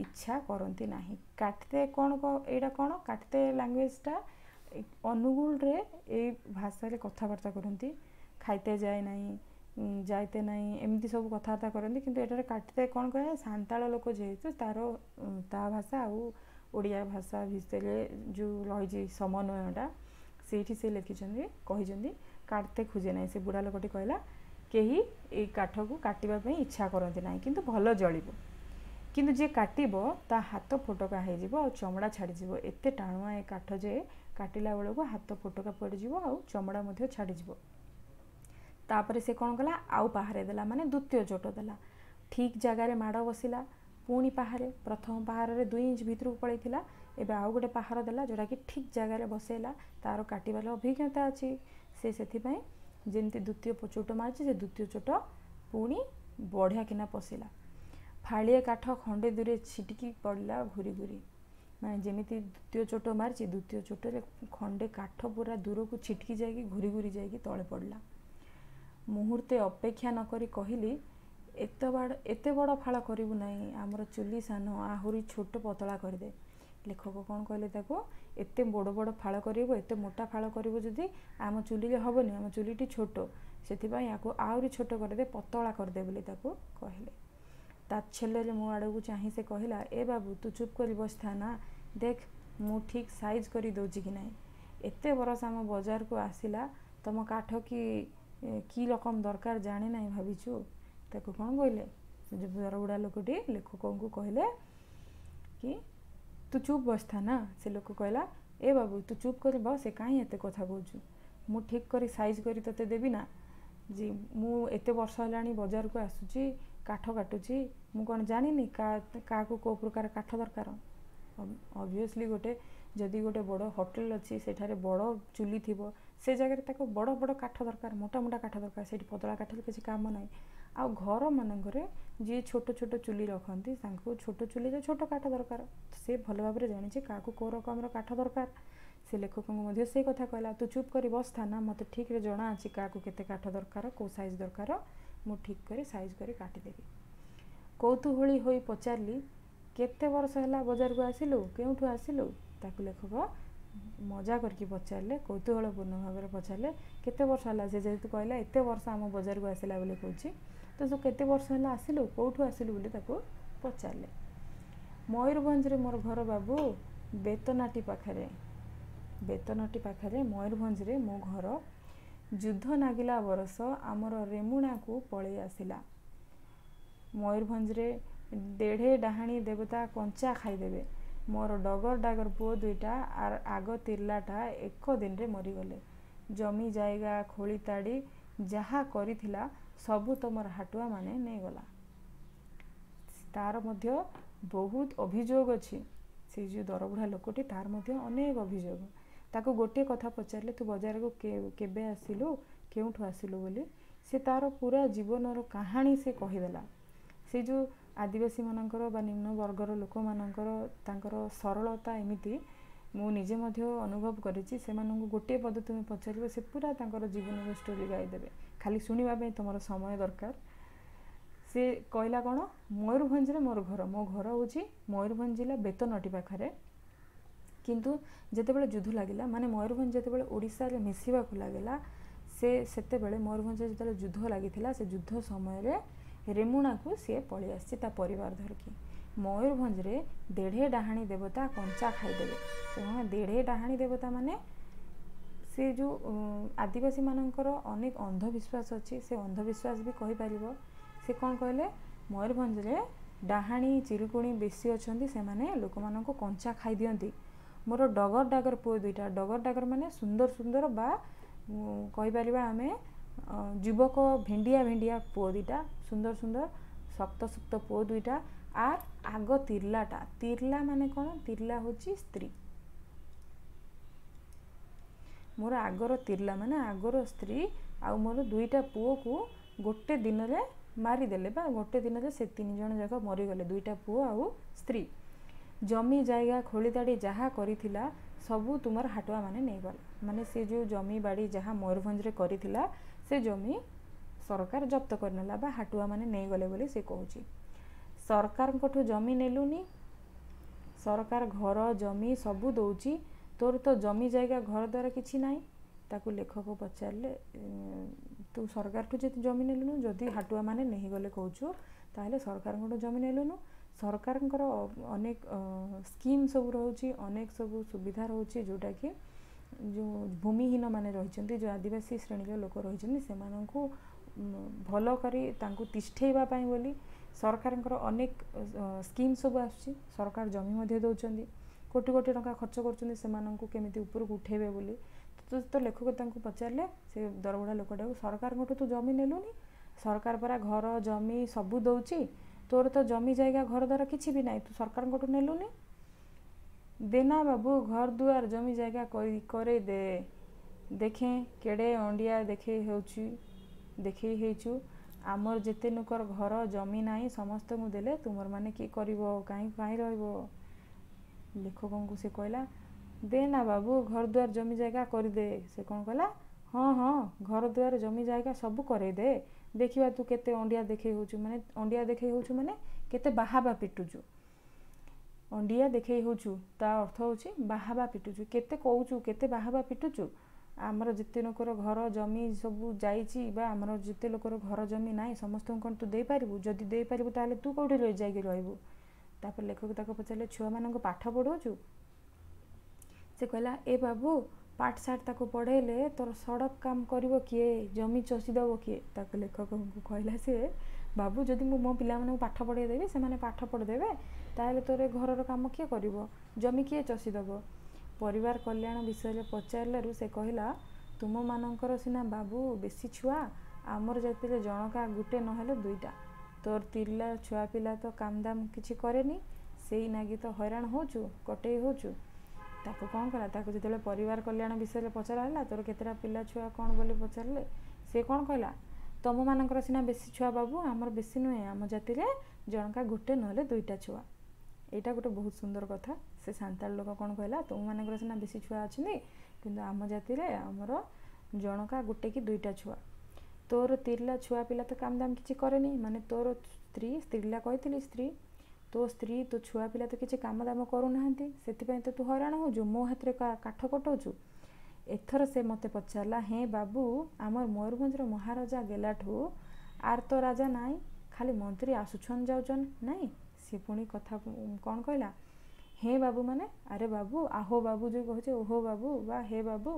ଇଚ୍ଛା କରନ୍ତି ନାହିଁ। କାଟତେ କ'ଣ, ଏଇଟା କ'ଣ? କାଟତେ ଲାଙ୍ଗୁଏଜଟା ଅନୁଗୁଳରେ ଏଇ ଭାଷାରେ କଥାବାର୍ତ୍ତା କରନ୍ତି। ଖାଇତେ ଯାଏ ନାହିଁ, ଯାଇତେ ନାହିଁ, ଏମିତି ସବୁ କଥାବାର୍ତ୍ତା କରନ୍ତି। କିନ୍ତୁ ଏଠାରେ କାଟତେ କ'ଣ କହେ, ସାନ୍ତାଳ ଲୋକ ଯେହେତୁ ତାର ତା ଭାଷା ଆଉ ଓଡ଼ିଆ ଭାଷା ଭିତରେ ଯେଉଁ ରହିଛି ସମନ୍ୱୟଟା, ସେଇଠି ସେ ଲେଖିଛନ୍ତି, କହିଛନ୍ତି କାଟତେ ଖୋଜେ ନାହିଁ। ସେ ବୁଢ଼ା ଲୋକଟି କହିଲା, କେହି ଏଇ କାଠକୁ କାଟିବା ପାଇଁ ଇଚ୍ଛା କରନ୍ତି ନାହିଁ, କିନ୍ତୁ ଭଲ ଜଳିବ, କିନ୍ତୁ ଯିଏ କାଟିବ ତା ହାତ ଫୋଟକା ହେଇଯିବ ଆଉ ଚମଡ଼ା ଛାଡ଼ିଯିବ। ଏତେ ଟାଣୁଆ ଏ କାଠ ଯେ କାଟିଲା ବେଳକୁ ହାତ ଫୋଟକା ପଡ଼ିଯିବ ଆଉ ଚମଡ଼ା ମଧ୍ୟ ଛାଡ଼ିଯିବ। ତାପରେ ସେ କ'ଣ କଲା, ଆଉ ପାହାରେ ଦେଲା, ମାନେ ଦ୍ୱିତୀୟ ଚୋଟ ଦେଲା। ଠିକ୍ ଜାଗାରେ ମାଡ଼ ବସିଲା। ପୁଣି ପାହାରେ, ପ୍ରଥମ ପାହାରରେ 2 ଇଞ୍ଚ ଭିତରକୁ ପଳେଇଥିଲା, ଏବେ ଆଉ ଗୋଟେ ପାହାର ଦେଲା ଯେଉଁଟାକି ଠିକ୍ ଜାଗାରେ ବସେଇଲା। ତାର କାଟିବାର ଅଭିଜ୍ଞତା ଅଛି ସେ, ସେଥିପାଇଁ ଯେମିତି ଦ୍ୱିତୀୟ ଚୋଟ ମାରିଛି, ସେ ଦ୍ୱିତୀୟ ଚୋଟ ପୁଣି ବଢ଼ିଆ କିନା ପଶିଲା। ଫାଳିଏ କାଠ ଖଣ୍ଡେ ଦୂରେ ଛିଟିକି ପଡ଼ିଲା ଘୁରି ଘୁରି। ମାନେ ଯେମିତି ଦ୍ୱିତୀୟ ଚୋଟ ମାରିଛି, ଦ୍ୱିତୀୟ ଚୋଟରେ ଖଣ୍ଡେ କାଠ ପୁରା ଦୂରକୁ ଛିଟିକି ଯାଇକି ଘୁରି ଘୁରି ଯାଇକି ତଳେ ପଡ଼ିଲା। ମୁହୂର୍ତ୍ତେ ଅପେକ୍ଷା ନକରି କହିଲି, ଏତେ ବଡ଼ ଫାଳ କରିବୁ ନାହିଁ, ଆମର ଚୁଲି ସାନ, ଆହୁରି ଛୋଟ ପତଳା କରିଦେ। ଲେଖକ କ'ଣ କହିଲେ ତାକୁ, ଏତେ ବଡ଼ ବଡ଼ ଫାଳ କରିବୁ, ଏତେ ମୋଟା ଫାଳ କରିବୁ ଯଦି ଆମ ଚୁଲିରେ ହେବନି, ଆମ ଚୁଲିଟି ଛୋଟ, ସେଥିପାଇଁ ୟାକୁ ଆହୁରି ଛୋଟ କରିଦେ, ପତଳା କରିଦେ ବୋଲି ତାକୁ କହିଲେ। ତାଚ୍ଛଲ୍ୟରେ ମୋ ଆଡ଼କୁ ଚାହିଁ ସେ କହିଲା, ଏ ବାବୁ, ତୁ ଚୁପ୍ କରି ବସିଥା ନା, ଦେଖ ମୁଁ ଠିକ୍ ସାଇଜ୍ କରି ଦେଉଛି କି ନାହିଁ। ଏତେ ବରଷ ଆମ ବଜାରକୁ ଆସିଲା, ତମ କାଠ କି କି ରକମ ଦରକାର ଜାଣେ ନାହିଁ ଭାବିଛୁ? ତାକୁ କ'ଣ କହିଲେ ସେ ଯେଉଁ ଦରବୁଢ଼ା ଲୋକଟି, ଲେଖକଙ୍କୁ କହିଲେ କି ତୁ ଚୁପ୍ ବସିଥା ନା। ସେ ଲୋକ କହିଲା, ଏ ବାବୁ, ତୁ ଚୁପ୍ କରି ବସେ, କାହିଁ ଏତେ କଥା କହୁଛୁ, ମୁଁ ଠିକ୍ କରି ସାଇଜ୍ କରି ତୋତେ ଦେବି ନା। ଯେ ମୁଁ ଏତେ ବର୍ଷ ହେଲାଣି ବଜାରକୁ ଆସୁଛି, କାଠ କାଟୁଛି, ମୁଁ କ'ଣ ଜାଣିନି କାହାକୁ କେଉଁ ପ୍ରକାର କାଠ ଦରକାର? ଅବଭିୟସଲି ଗୋଟେ ଯଦି ଗୋଟେ ବଡ଼ ହୋଟେଲ ଅଛି, ସେଠାରେ ବଡ଼ ଚୁଲି ଥିବ, ସେ ଜାଗାରେ ତାକୁ ବଡ଼ ବଡ଼ କାଠ ଦରକାର, ମୋଟା ମୋଟା କାଠ ଦରକାର, ସେଇଠି ପତଳା କାଠରେ କିଛି କାମ ନାହିଁ। ଆଉ ଘରମାନଙ୍କରେ ଯିଏ ଛୋଟ ଛୋଟ ଚୁଲି ରଖନ୍ତି, ତାଙ୍କୁ ଛୋଟ ଚୁଲିରେ ଛୋଟ କାଠ ଦରକାର। ସେ ଭଲ ଭାବରେ ଜାଣିଛି କାହାକୁ କେଉଁ ରକମର କାଠ ଦରକାର। ସେ ଲେଖକଙ୍କୁ ମଧ୍ୟ ସେଇ କଥା କହିଲା, ତୁ ଚୁପ୍ କରି ବସିଥା ନା, ମୋତେ ଠିକ୍ରେ ଜଣା ଅଛି କାହାକୁ କେତେ କାଠ ଦରକାର, କେଉଁ ସାଇଜ୍ ଦରକାର, ମୁଁ ଠିକ୍ କରି ସାଇଜ୍ କରି କାଟିଦେବି। କୌତୂହଳୀ ହୋଇ ପଚାରିଲି, କେତେ ବର୍ଷ ହେଲା ବଜାରକୁ ଆସିଲୁ, କେଉଁଠୁ ଆସିଲୁ? ତାକୁ ଲେଖକ ମଜା କରିକି ପଚାରିଲେ, କୌତୂହଳପୂର୍ଣ୍ଣ ଭାବରେ ପଚାରିଲେ କେତେ ବର୍ଷ ହେଲା। ସେ ଯେହେତୁ କହିଲା ଏତେ ବର୍ଷ ଆମ ବଜାରକୁ ଆସିଲା ବୋଲି କହୁଛି, ତ ତୁ କେତେ ବର୍ଷ ହେଲା ଆସିଲୁ, କେଉଁଠୁ ଆସିଲୁ ବୋଲି ତାକୁ ପଚାରିଲେ। ମୟୂରଭଞ୍ଜରେ ମୋର ଘର ବାବୁ, ବେତନାଟି ପାଖରେ, ବେତନଟି ପାଖରେ ମୟୂରଭଞ୍ଜରେ ମୋ ଘର। ଯୁଦ୍ଧ ନାଗିଲା ବରଷ ଆମର ରେମୁଣାକୁ ପଳେଇ ଆସିଲା। ମୟୂରଭଞ୍ଜରେ ଦେଢ଼େ ଡାହାଣୀ ଦେବତା କଞ୍ଚା ଖାଇଦେବେ। ମୋର ଡଗର ଡାଗର ପୁଅ ଦୁଇଟା ଆର୍ ଆଗ ତିର୍ଲାଟା ଏକ ଦିନରେ ମରିଗଲେ। ଜମି ଜାଇଗା ଖୋଳି ତାଡ଼ି ଯାହା କରିଥିଲା ସବୁ ତମର ହାଟୁଆମାନେ ନେଇଗଲା। ତାର ମଧ୍ୟ ବହୁତ ଅଭିଯୋଗ ଅଛି। ସେଇ ଯେଉଁ ଦରବୁଢ଼ା ଲୋକଟି, ତାର ମଧ୍ୟ ଅନେକ ଅଭିଯୋଗ। ତାକୁ ଗୋଟିଏ କଥା ପଚାରିଲେ, ତୁ ବଜାରକୁ କେବେ ଆସିଲୁ, କେଉଁଠୁ ଆସିଲୁ ବୋଲି, ସେ ତାର ପୁରା ଜୀବନର କାହାଣୀ ସେ କହିଦେଲା। ସେ ଯେଉଁ ଆଦିବାସୀମାନଙ୍କର ବା ନିମ୍ନ ବର୍ଗର ଲୋକମାନଙ୍କର ତାଙ୍କର ସରଳତା ଏମିତି, ମୁଁ ନିଜେ ମଧ୍ୟ ଅନୁଭବ କରିଛି। ସେମାନଙ୍କୁ ଗୋଟିଏ ପଦ ତୁମେ ପଚାରିବ, ସେ ପୁରା ତାଙ୍କର ଜୀବନର ଷ୍ଟୋରି ଗାଇଦେବେ। ଖାଲି ଶୁଣିବା ପାଇଁ ତୁମର ସମୟ ଦରକାର। ସେ ସେ କହିଲା କ'ଣ, ମୟୂରଭଞ୍ଜରେ ମୋର ଘର, ମୋ ଘର ହେଉଛି ମୟୂରଭଞ୍ଜ ଜିଲ୍ଲା ବେତନଟି ପାଖରେ। କିନ୍ତୁ ଯେତେବେଳେ ଯୁଦ୍ଧ ଲାଗିଲା, ମାନେ ମୟୂରଭଞ୍ଜ ଯେତେବେଳେ ଓଡ଼ିଶାରେ ମିଶିବାକୁ ଲାଗିଲା, ସେ ସେତେବେଳେ ମୟୂରଭଞ୍ଜରେ ଯେତେବେଳେ ଯୁଦ୍ଧ ଲାଗିଥିଲା, ସେ ଯୁଦ୍ଧ ସମୟରେ ରେମୁଣାକୁ ସିଏ ପଳେଇ ଆସିଛି ତା ପରିବାର ଧରିକି। ମୟୂରଭଞ୍ଜରେ ଦେଢ଼େ ଡାହାଣୀ ଦେବତା କଞ୍ଚା ଖାଇଦେବେ। ସେମାନେ ଦେଢ଼େ ଡାହାଣୀ ଦେବତା ମାନେ ସେ ଯେଉଁ ଆଦିବାସୀମାନଙ୍କର ଅନେକ ଅନ୍ଧବିଶ୍ୱାସ ଅଛି, ସେ ଅନ୍ଧବିଶ୍ୱାସ ବି କହିପାରିବ। ସେ କ'ଣ କହିଲେ, ମୟୂରଭଞ୍ଜରେ ଡାହାଣୀ ଚିରୁକୁଣି ବେଶୀ ଅଛନ୍ତି, ସେମାନେ ଲୋକମାନଙ୍କୁ କଞ୍ଚା ଖାଇଦିଅନ୍ତି। ମୋର ଡଗର ଡାଗର ପୁଅ ଦୁଇଟା, ଡଗର ଡାଗର ମାନେ ସୁନ୍ଦର ସୁନ୍ଦର ବା କହିପାରିବା ଆମେ ଯୁବକ ଭେଣ୍ଡିଆ ଭେଣ୍ଡିଆ ପୁଅ ଦୁଇଟା, ସୁନ୍ଦର ସୁନ୍ଦର ଶକ୍ତ ଶକ୍ତ ପୁଅ ଦୁଇଟା। ଆର୍ ଆଗ ତିର୍ଲାଟା, ତିର୍ଲା ମାନେ କ'ଣ? ତିର୍ଲା ହେଉଛି ସ୍ତ୍ରୀ। ମୋର ଆଗର ତିର୍ଲା ମାନେ ଆଗର ସ୍ତ୍ରୀ ଆଉ ମୋର ଦୁଇଟା ପୁଅକୁ ଗୋଟେ ଦିନରେ ମାରିଦେଲେ, ବା ଗୋଟେ ଦିନରେ ସେ ତିନି ଜଣ ଯାକ ମରିଗଲେ, ଦୁଇଟା ପୁଅ ଆଉ ସ୍ତ୍ରୀ। ଜମି ଜାଗା ଖୋଳିତାଡ଼ି ଯାହା କରିଥିଲା ସବୁ ତୁମର ହାଟୁଆ ମାନେ ନେଇଗଲେ। ମାନେ ସେ ଯେଉଁ ଜମି ବାଡ଼ି ଯାହା ମୟୂରଭଞ୍ଜରେ କରିଥିଲା, ସେ ଜମି ସରକାର ଜପ୍ତ କରିନେଲା ବା ହାଟୁଆ ମାନେ ନେଇଗଲେ ବୋଲି ସେ କହୁଛି। ସରକାରଙ୍କଠୁ ଜମି ନେଲୁନି, ସରକାର ଘର ଜମି ସବୁ ଦେଉଛି, ତୋର ତ ଜମି ଜାଗା ଘର ଦ୍ୱାରା କିଛି ନାହିଁ। ତାକୁ ଲେଖକ ପଚାରିଲେ, ତୁ ସରକାରଠୁ ଯଦି ଜମି ନେଲୁନୁ, ଯଦି ହାଟୁଆ ମାନେ ନେଇଗଲେ କହୁଛୁ, ତାହେଲେ ସରକାରଙ୍କଠୁ ଜମି ନେଲୁନୁ। ସରକାରଙ୍କର ଅନେକ ସ୍କିମ୍ ସବୁ ରହୁଛି, ଅନେକ ସବୁ ସୁବିଧା ରହୁଛି, ଯେଉଁଟାକି ଯେଉଁ ଭୂମିହୀନ ମାନେ ରହିଛନ୍ତି, ଯେଉଁ ଆଦିବାସୀ ଶ୍ରେଣୀର ଲୋକ ରହିଛନ୍ତି, ସେମାନଙ୍କୁ ଭଲ କରି ତାଙ୍କୁ ତିଷ୍ଠେଇବା ପାଇଁ ବୋଲି ସରକାରଙ୍କର ଅନେକ ସ୍କିମ୍ ସବୁ ଆସୁଛି। ସରକାର ଜମି ମଧ୍ୟ ଦେଉଛନ୍ତି, କୋଟି କୋଟି ଟଙ୍କା ଖର୍ଚ୍ଚ କରୁଛନ୍ତି ସେମାନଙ୍କୁ କେମିତି ଉପରକୁ ଉଠେଇବେ ବୋଲି। ତ ଲେଖକ ତାଙ୍କୁ ପଚାରିଲେ, ସେ ଦରବୁଢ଼ା ଲୋକଟାକୁ, ସରକାରଙ୍କଠୁ ତୁ ଜମି ନେଲୁନି, ସରକାର ପରା ଘର ଜମି ସବୁ ଦେଉଛି, ତୋର ତ ଜମି ଜାଗା ଘର ଦ୍ୱାର କିଛି ବି ନାହିଁ, ତୁ ସରକାରଙ୍କଠୁ ନେଲୁନି? ଦେନା ବାବୁ, ଘର ଦୁଆର ଜମି ଜାଗା କରେଇ ଦେ, ଦେଖେଁ କେଡ଼େ ଅଣ୍ଡିଆ ଦେଖେଇ ହେଉଛି, ଦେଖେଇ ହେଇଛୁ। ଆମର ଯେତେ ନୁକର ଘର ଜମି ନାହିଁ ସମସ୍ତଙ୍କୁ ଦେଲେ, ତୁମର ମାନେ କିଏ କରିବ, କାହିଁ କାହିଁ ରହିବ? ଲେଖକଙ୍କୁ ସେ କହିଲା, ଦେ ନା ବାବୁ, ଘର ଦ୍ୱାର ଜମି ଜାଗା କରିଦେ। ସେ କ'ଣ କହିଲା, ହଁ ହଁ, ଘର ଦ୍ୱାର ଜମି ଜାଗା ସବୁ କରେଇଦେ, ଦେଖିବା ତୁ କେତେ ଅଣ୍ଡିଆ ଦେଖେଇ ହେଉଛୁ। ମାନେ ଅଣ୍ଡିଆ ଦେଖେଇ ହେଉଛୁ ମାନେ କେତେ ବାହାବା ପିଟୁଛୁ। ଅଣ୍ଡିଆ ଦେଖେଇ ହେଉଛୁ ତା ଅର୍ଥ ହେଉଛି ବାହାବା ପିଟୁଛୁ, କେତେ କହୁଛୁ, କେତେ ବାହାବା ପିଟୁଛୁ। ଆମର ଯେତେ ଲୋକର ଘର ଜମି ସବୁ ଯାଇଛି ବା ଆମର ଯେତେ ଲୋକର ଘର ଜମି ନାହିଁ, ସମସ୍ତଙ୍କୁ କ'ଣ ତୁ ଦେଇପାରିବୁ? ଯଦି ଦେଇପାରିବୁ ତାହେଲେ ତୁ କେଉଁଠି ଯାଇକି ରହିବୁ? ତାପରେ ଲେଖକ ତାକୁ ପଚାରିଲେ, ଛୁଆମାନଙ୍କୁ ପାଠ ପଢ଼ାଉଛୁ? ସେ କହିଲା, ଏ ବାବୁ, ପାଠ ସାଠ ତାକୁ ପଢ଼େଇଲେ ତୋର ସଡ଼କ କାମ କରିବ କିଏ, ଜମି ଚଷିଦେବ କିଏ? ତାକୁ ଲେଖକଙ୍କୁ କହିଲା ସିଏ, ବାବୁ, ଯଦି ମୁଁ ମୋ ପିଲାମାନଙ୍କୁ ପାଠ ପଢ଼େଇ ଦେବି, ସେମାନେ ପାଠ ପଢ଼ିଦେବେ, ତାହେଲେ ତୋର ଘରର କାମ କିଏ କରିବ, ଜମି କିଏ ଚଷିଦେବ? ପରିବାର କଲ୍ୟାଣ ବିଷୟରେ ପଚାରିଲାରୁ ସେ କହିଲା, ତୁମମାନଙ୍କର ସିନା ବାବୁ ବେଶୀ ଛୁଆ, ଆମର ଜାତିରେ ଜଣକା ଗୋଟେ ନହେଲେ ଦୁଇଟା। ତୋର ତିର୍ଲା ଛୁଆ ପିଲା ତ କାମଦାମ କିଛି କରେନି, ସେଇ ନାଗି ତ ହଇରାଣ ହେଉଛୁ, କଟେଇ ହେଉଛୁ। ତାକୁ କ'ଣ କଲା, ତାକୁ ଯେତେବେଳେ ପରିବାର କଲ୍ୟାଣ ବିଷୟରେ ପଚରା ହେଲା, ତୋର କେତେଟା ପିଲା ଛୁଆ କ'ଣ ବୋଲି ପଚାରିଲେ, ସେ କ'ଣ କହିଲା, ତୁମମାନଙ୍କର ସିନା ବେଶୀ ଛୁଆ ବାବୁ, ଆମର ବେଶୀ ନୁହେଁ, ଆମ ଜାତିରେ ଜଣକା ଗୋଟେ ନହେଲେ ଦୁଇଟା ଛୁଆ। ଏଇଟା ଗୋଟେ ବହୁତ ସୁନ୍ଦର କଥା। ସେ ସାନ୍ତାଳ ଲୋକ କ'ଣ କହିଲା, ତୁମମାନଙ୍କର ସିନା ବେଶୀ ଛୁଆ ଅଛନ୍ତି, କିନ୍ତୁ ଆମ ଜାତିରେ ଆମର ଜଣକା ଗୋଟେ କି ଦୁଇଟା ଛୁଆ। ତୋର ତିର୍ଲା ଛୁଆ ପିଲା ତ କାମ ଦାମ କିଛି କରେନି, ମାନେ ତୋର ସ୍ତ୍ରୀ, ସ୍ତ୍ରୀଲା କହିଥିଲି ସ୍ତ୍ରୀ, ତୋ ସ୍ତ୍ରୀ ତୋ ଛୁଆ ପିଲା ତ କିଛି କାମ ଦାମ କରୁନାହାନ୍ତି, ସେଥିପାଇଁ ତ ତୁ ହଇରାଣ ହେଉଛୁ, ମୋ ହାତରେ କାଠ କଟାଉଛୁ। ଏଥର ସେ ମୋତେ ପଚାରିଲା, ହେ ବାବୁ, ଆମର ମୟୂରଭଞ୍ଜର ମହାରାଜା ଗେଲାଠୁ ଆର୍ ତ ରାଜା ନାହିଁ, ଖାଲି ମନ୍ତ୍ରୀ ଆସୁଛନ୍ ଯାଉଛନ୍ ନାଇଁ? ସିଏ ପୁଣି କଥା କ'ଣ କହିଲା, ହେ ବାବୁ ମାନେ ଆରେ ବାବୁ, ଆହୋ ବାବୁ ଯେଉଁ କହୁଛେ, ଓହୋ ବାବୁ ବା ହେ ବାବୁ,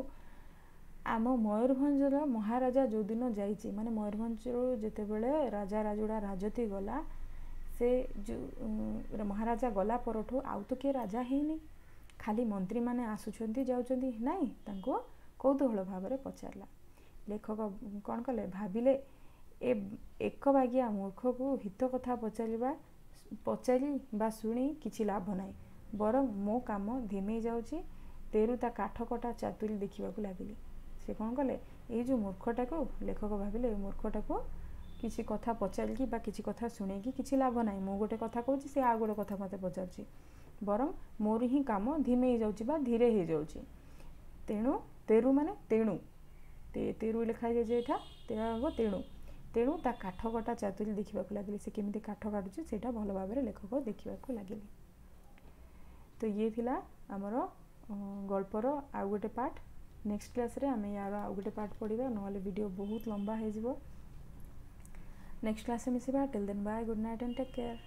ଆମ ମୟୂରଭଞ୍ଜର ମହାରାଜା ଯେଉଁଦିନ ଯାଇଛି, ମାନେ ମୟୂରଭଞ୍ଜରୁ ଯେତେବେଳେ ରାଜା ରାଜୁଡ଼ା ରାଜତି ଗଲା, ସେ ଯେଉଁ ମହାରାଜା ଗଲା ପରଠୁ ଆଉ ତ କିଏ ରାଜା ହେଇନି, ଖାଲି ମନ୍ତ୍ରୀମାନେ ଆସୁଛନ୍ତି ଯାଉଛନ୍ତି ନାଇଁ? ତାଙ୍କୁ କୌତୂହଳ ଭାବରେ ପଚାରିଲା। ଲେଖକ କ'ଣ କଲେ, ଭାବିଲେ ଏ ଏକ ବାଗିଆ ମୂର୍ଖକୁ ହିତ କଥା ପଚାରିବା ପଚାରି ବା ଶୁଣି କିଛି ଲାଭ ନାହିଁ, ବରଂ ମୋ କାମ ଧିମେଇ ଯାଉଛି। ତେରୁ ତା କାଠ କଟା ଚାତୁରୀ ଦେଖିବାକୁ ଲାଗିଲି। ସେ କ'ଣ କଲେ, ଏଇ ଯେଉଁ ମୂର୍ଖଟାକୁ, ଲେଖକ ଭାବିଲେ ଏ ମୂର୍ଖଟାକୁ କିଛି କଥା ପଚାରିକି ବା କିଛି କଥା ଶୁଣେଇକି କିଛି ଲାଭ ନାହିଁ, ମୁଁ ଗୋଟେ କଥା କହୁଛି, ସେ ଆଉ ଗୋଟେ କଥା ମୋତେ ପଚାରୁଛି, ବରଂ ମୋର ହିଁ କାମ ଧିମେଇ ଯାଉଛି ବା ଧୀରେ ହେଇଯାଉଛି। ତେଣୁ, ତେରୁ ମାନେ ତେଣୁ, ତେରୁ ଲେଖା ହେଇଯାଇଛି ଏଇଠା, ତେଣୁ ହେବ ତେଣୁ। ତେଣୁ ତା କାଠ କଟା ଚାତୁରୀ ଦେଖିବାକୁ ଲାଗିଲେ। ସେ କେମିତି କାଠ କାଟୁଛି, ସେଇଟା ଭଲ ଭାବରେ ଲେଖକ ଦେଖିବାକୁ ଲାଗିଲେ। ତ ଇଏ ଥିଲା ଆମର ଗଳ୍ପର ଆଉ ଗୋଟେ ପାର୍ଟ। ନେକ୍ସଟ କ୍ଲାସ୍ରେ ଆମେ ୟାର ଆଉ ଗୋଟେ ପାର୍ଟ ପଢ଼ିବା, ନହେଲେ ଭିଡ଼ିଓ ବହୁତ ଲମ୍ବା ହେଇଯିବ। ନେକ୍ସଟ କ୍ଲାସ୍ରେ ମିଶିବା। Till then bye, good night and take care.